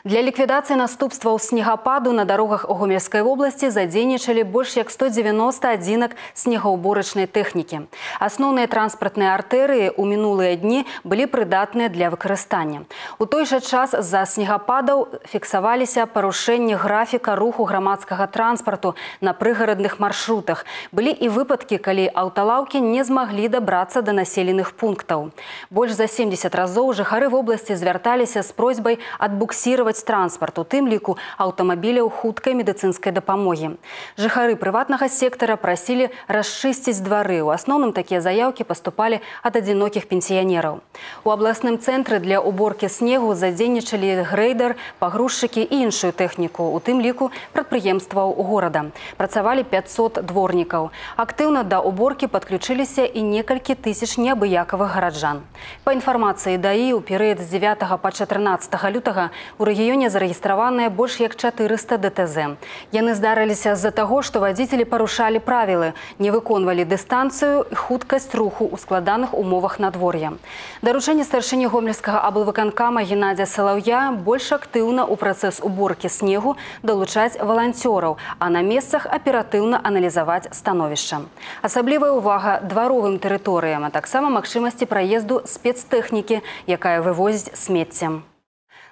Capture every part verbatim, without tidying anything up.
Для ліквідацыі наступстваў снегападу на дарогах у Гомельскай вобласці задзейнічалі больш як сто дзевяноста адзінак снегаўборачнай тэхнікі. Асноўныя транспартныя артэрыі ў мінулыя дні былі прыдатныя для выкарыстання. У той жа час з-за снегападаў фіксаваліся парушэнні графіка руху грамадскага транспарту на прыгарадных маршрутах. Былі і выпадкі, калі аўталаўкі не змаглі дабрацца да населеных пунктаў. Больш за семдзесят разоў жыхары вобласці звярталіся з просьбай адбуксіраваць транспарт, у тым ліку аўтамабіляў хуткай медыцынскай дапамогі. Жыхары прыватнага сектара прасілі расчысціць двары. У асноўным такія заяўкі паступалі ад адзінокіх пенсіянераў. У абласным цэнтры для уборкі снегу задзейнічалі грэйдер, пагрузчыкі і іншую тэхніку, у тым ліку прадпрыемстваў горада. Працавалі пяцьсот дворнікаў. Актыўна да уборкі падключыліся і некалькі тысяч неабыякавых гараджан. Па інфармацыі ДАІ, у перыяд з дзевятага па чатырнаццатае лютага у рэгіёне зарэгістраваныя больш як чатырыста дэ тэ зэ. Яны здарыліся з-за таго, што вадзіцелі парушалі правілы, не выконвалі дыстанцыю і хуткасць руху ў складаных умовах надвор'я. Даручэнне старшыні гомельскага аблвыканкама Геннадзя Салаўя больш актыўна ў працэс уборкі снегу далучаць валанцёраў, а на месцах аператыўна аналізаваць становішча. Асаблівая ўвага дваровым тэрыторыям, а таксама магчымасці праезду спецтэхнікі, якая вывозіць смецце.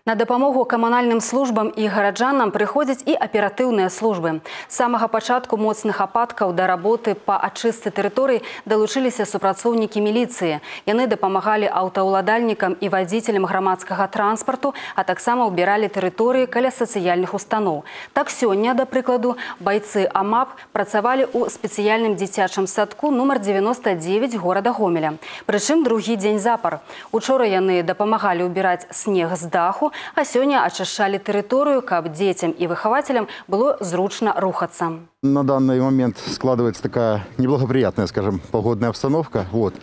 На дапамогу камунальным службам і гараджанам прыходзяць і аператыўныя службы. З самага пачатку моцных ападкаў да работы па ачыстцы тэрыторый далучыліся супрацоўнікі міліцыі. Яны дапамагалі аўтаўладальнікам і вадзіцелям грамадскага транспарту, а таксама ўбіралі тэрыторыі каля сацыяльных устаноў. Так сёння, да прыкладу, байцы АМАП працавалі ў спецыяльным дзіцячым садку нумар дзевяноста дзевяць горада Гомеля. Прычым другі дзень запар. Учора яны дапамагалі ўбіраць снег з даху, а сёння ачышчалі тэрыторыю, каб дзецям і выхавацелям было зручна рухацца. На данный момент складывается такая неблагоприятная, скажем, погодная обстановка. Вот.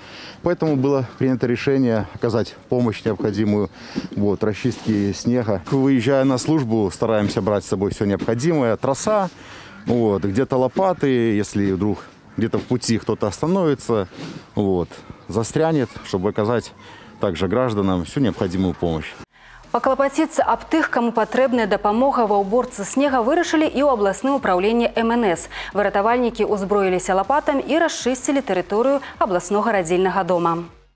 Поэтому было принято решение оказать помощь необходимую вот, расчистке снега. Выезжая на службу, стараемся брать с собой все необходимое. Троса, вот, где-то лопаты, если вдруг где-то в пути кто-то остановится, вот, застрянет, чтобы оказать также гражданам всю необходимую помощь. Паклапаціцца аб тых, каму патрэбная дапамога ва ўборцы снега, вырашылі і ў абласным управленні эм эн эс. Выратавальнікі ўзброіліся лапатам і расчысцілі тэрыторыю абласнога радзільнага дома.